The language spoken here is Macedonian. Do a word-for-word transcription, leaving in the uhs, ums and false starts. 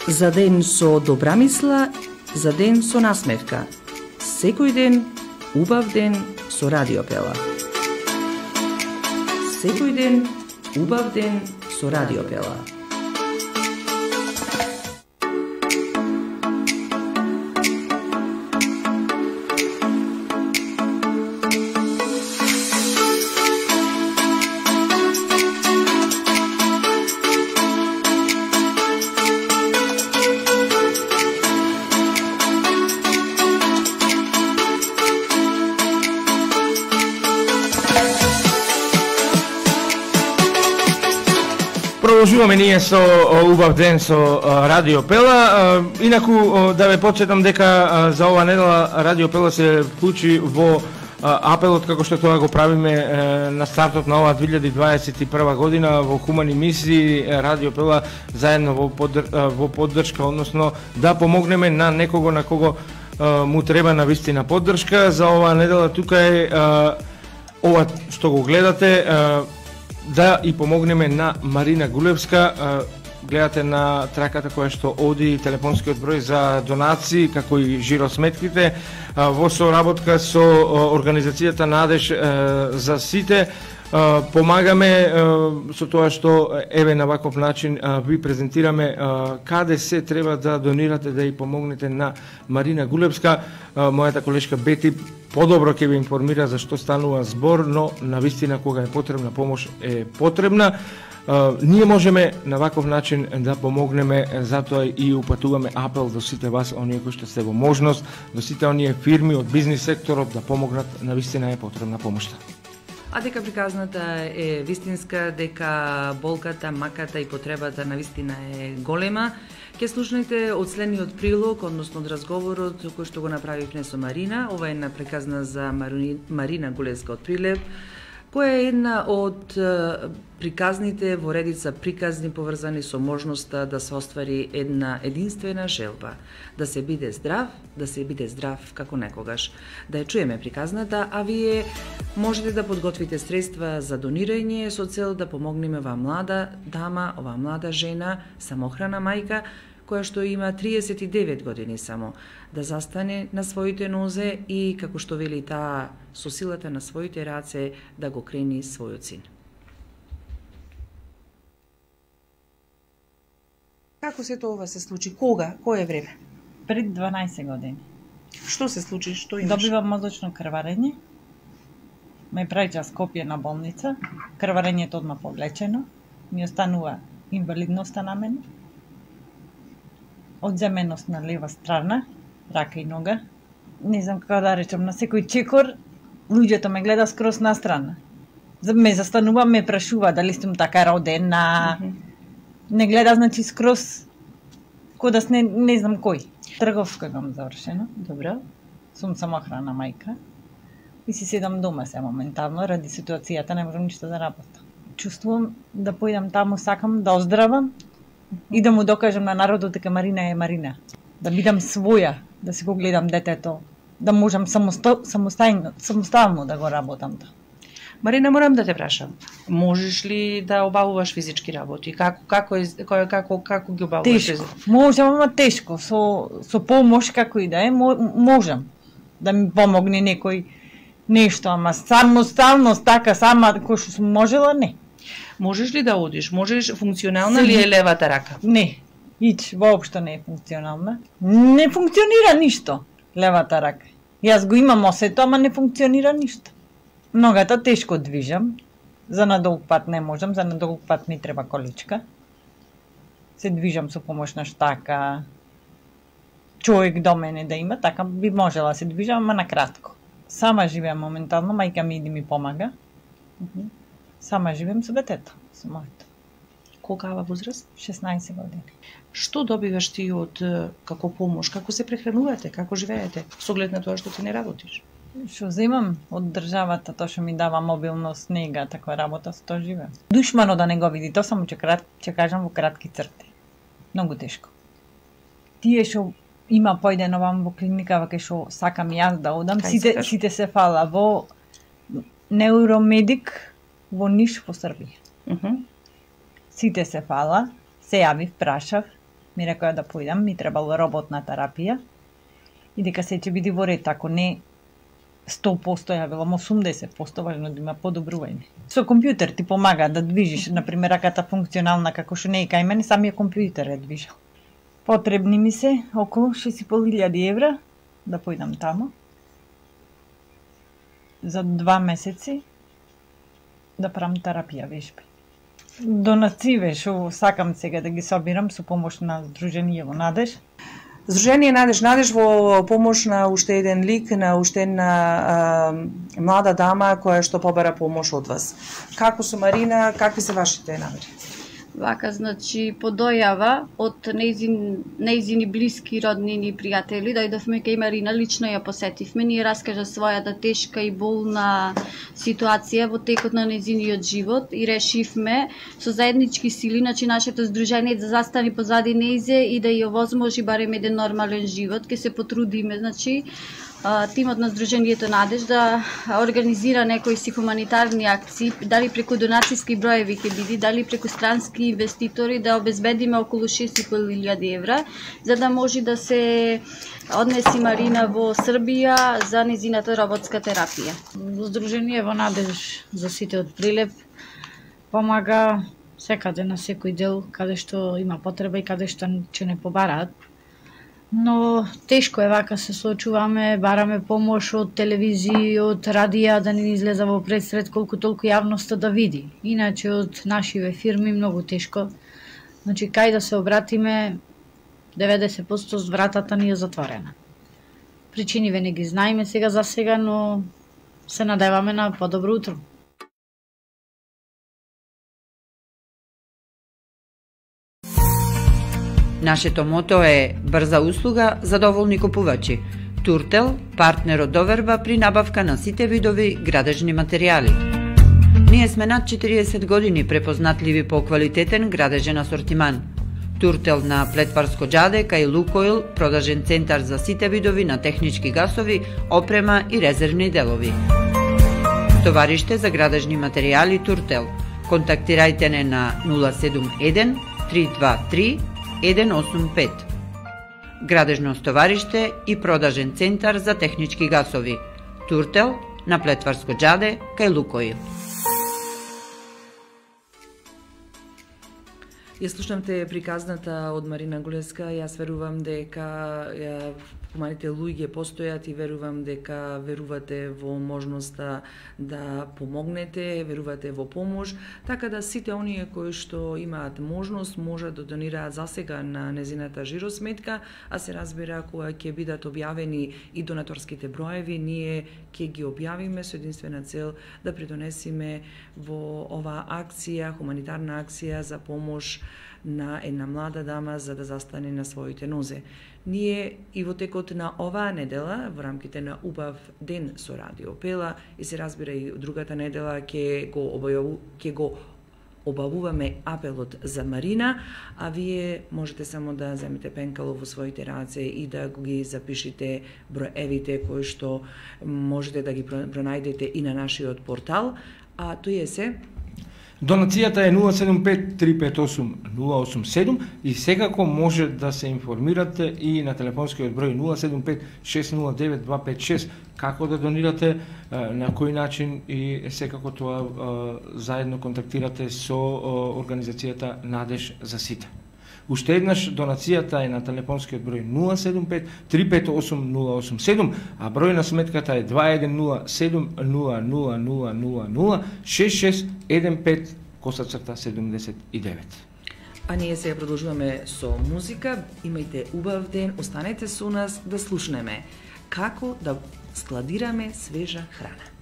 За ден со добра мисла, за ден со насмевка. Секој ден, убав ден со Радио Пела. Секој ден, убав ден со Радио Пела. Продолжуваме ние со убав ден со Радио Пела. Инаку да ве потсетам дека за ова недела Радио Пела се вклучи во апелот како што тоа го правиме на стартот на оваа две илјади дваесет и прва година во хумани мисии. Радио Пела заедно во, подр... во поддршка, односно да помогнеме на некого на кого му треба навистина поддршка. За оваа недела тука е ова што го гледате, да и помогнеме на Марина Гулевска. Гледате на траката која што оди телефонскиот број за донации, како и жиросметките, во соработка со организацијата Надеж за сите. Помагаме со тоа што еве на ваков начин ви презентираме каде се треба да донирате, да и помогнете на Марина Гулевска. Мојата колешка Бети подобро ќе ви информира за што станува збор, но навистина кога е потребна помош е потребна. Ние можеме на ваков начин да помогнеме, затоа и упатуваме апел до сите вас, оние кои што сте во можност, до сите оние фирми од бизнис секторот да помогнат, навистина е потребна помошта. А дека приказната е вистинска, дека болката, маката и потребата навистина е голема, ќе слушнете од следниот прилог, односно од разговорот кој што го направивме со Марина. Ова е една приказна за Марина Гулевска од Прилеп, која е една од приказните во редица приказни поврзани со можноста да се оствари една единствена желба, да се биде здрав, да се биде здрав како некогаш. Да ја чуеме приказната, а вие можете да подготвите средства за донирање со цел да помогнеме оваа млада дама, оваа млада жена, самохрана мајка, која што има триесет и девет години само, да застане на своите нозе и, како што вели таа, со силата на своите раце да го крени својот син. Како се тоа се случи? Кога? Кое време? Пред дванаесет години. Што се случи? Што имаш? Добивам мозочно крварење. Ме праќа Скопје на болница. Крварењето одма повлечено. Ми останува инвалидноста на мене. Одземеност на лева страна, рака и нога. Не знам како да речам, на секој чекор луѓето ме гледа скроз настрана. Ме застанува, ме прашува дали сум така родена. Mm -hmm. Не гледа, значи, скроз кодас не, не знам кој. Трговска гам завршено. Добро. Сум самохрана мајка. И си седам дома се моментално, ради ситуацијата не можам ништо да работам. Чувствувам да појдам таму, сакам да оздравам и да му докажам на народот дека Марина е Марина. Да бидам своја, да си го гледам детето, да можам самостојно, самоставно да го работам. Марина, морам да те прашам. Можеш ли да обавуваш физички работи? Како како е како како, како ги обавуваш? Тешко. Можам, ама тешко. Со со помош како и да е, можам да ми помогне некој нешто, ама самоставност така сама кој што сум можела, не. Можеш ли да одиш? Можеш, функционална ли е левата рака? Не. Ич воопшто не е функционална. Не функционира ништо левата рака. Јас го имам осето, ама не функционира ништо. Ногата тешко движам. За надолг пат не можам, за надолг пат ми треба количка. Се движам со помош на штака. Човек до мене да има, така би можела се движам, ама на кратко. Сама живеам моментално, мајка ми иди ми помага. Сама живеам со детето, со моето. Колкава возраст? шеснаесет години. Што добиваш ти од како помош? Како се прехранувате? Како живеете? Со оглед на тоа што ти не работиш? Што земам од државата, тоа што ми дава мобилност, нега, таква работа, со тоа живеам. Душмано да не го види, тоа само ќе, крат, ќе кажам во кратки црти. Многу тешко. Тие што има појден овам во клиника, вака што сакам јас да одам, сите, сите се фала во Неуромедик во Ниш во Србија. Uh -huh. Сите се фала, се јавив, прашав, ми рекоа да појдам, ми требало работна терапија и дека се ќе биде во ред, ако не сто проценти, ја велам осумдесет проценти, важно да има подобрување. Со компјутер ти помага да движиш, например, раката функционална како што не е кај мене, самиот компјутер е движел. Потребни ми се околу шест и пол илјади евра да појдам тамо за два месеци да правам терапија вежби. Донации што сакам сега да ги собирам со помош на Сдруженијево Надеж. Сдружение Надеж Надеж во помош на уште еден лик, на уште една а, млада дама која што побара помош од вас. Како со Марина, какви се вашите намери? Вака, значи, по дојава од неизин, неизини блиски роднини и пријатели, дојдовме кај Марина, лично ја посетивме, ние раскажа својата тешка и болна ситуација во текот на неизиниот живот и решивме со заеднички сили, значи нашето здружение да застани позади неизе и да ја овозможи барем еден нормален живот. Ке се потрудиме, значи, тимот на Сдруженијето Надеж да организира некои си хуманитарни акции, дали преку донацијски броеви ќе биде, дали преку странски инвеститори, да обезбедиме околу шест и пол илјади евра, за да може да се однеси Марина во Србија за незината роботска терапија. Сдруженијево Надеж за сите од Прилеп помага секаде на секој дел каде што има потреба и каде што ќе не побараат. Но тешко е вака, се соочуваме, бараме помош од телевизија, од радија, да не излеза во предсред колку толку јавноста да види. Иначе од нашиве фирми многу тешко. Значи, кај да се обратиме, деветдесет проценти вратата ни е затворена. Причиниве не ги знаеме сега за сега, но се надеваме на подобро утро. Нашето мото е брза услуга за доволни купувачи. Туртел, партнер од доверба при набавка на сите видови градежни материјали. Ние сме над четириесет години препознатливи по квалитетен градежен асортиман. Туртел на Плетварско џаде кај Лукойл, продажен центар за сите видови на технички гасови, опрема и резервни делови. Товариште за градежни материјали Туртел. Контактирајте не на нула седум еден три два три еден осум пет. Градежно стовариште и продажен центар за технички гасови. Туртел на Плетварско џаде кај Лукойл. Ја слушнавте приказната од Марина Голеска. Јас верувам дека хуманите луѓе постојат и верувам дека верувате во можноста да помогнете, верувате во помош, така да сите оние кои што имаат можност можат да донираат засега на незината жиросметка, а се разбира кога ќе бидат објавени и донаторските броеви, ние ќе ги објавиме со единствена цел да придонесиме во оваа акција, хуманитарна акција за помош на една млада дама за да застане на своите нозе. Ние и во текот на оваа недела, во рамките на убав ден со Радио Пела, и се разбира и другата недела ќе го објаву, ќе го обавуваме апелот за Марина, а вие можете само да земете пенкало во своите раце и да ги запишите броевите кои што можете да ги пронајдете и на нашиот портал, а тој е се Донацијата е нула седум пет три пет осум нула осум седум и секако може да се информирате и на телефонскиот број нула седум пет шест нула девет два пет шест како да донирате, на кој начин и секако тоа заедно контактирате со организацијата Надеж за сите. Уште еднаш донацијата е на телефонскиот број нула седум пет три пет осум нула осум седум, а број на сметката е два еден нула седум нула нула нула нула нула шест шест еден пет косацрта седумдесет и девет. А ние сега продолжуваме со музика. Имајте убав ден, останете со нас да слушнеме како да складираме свежа храна.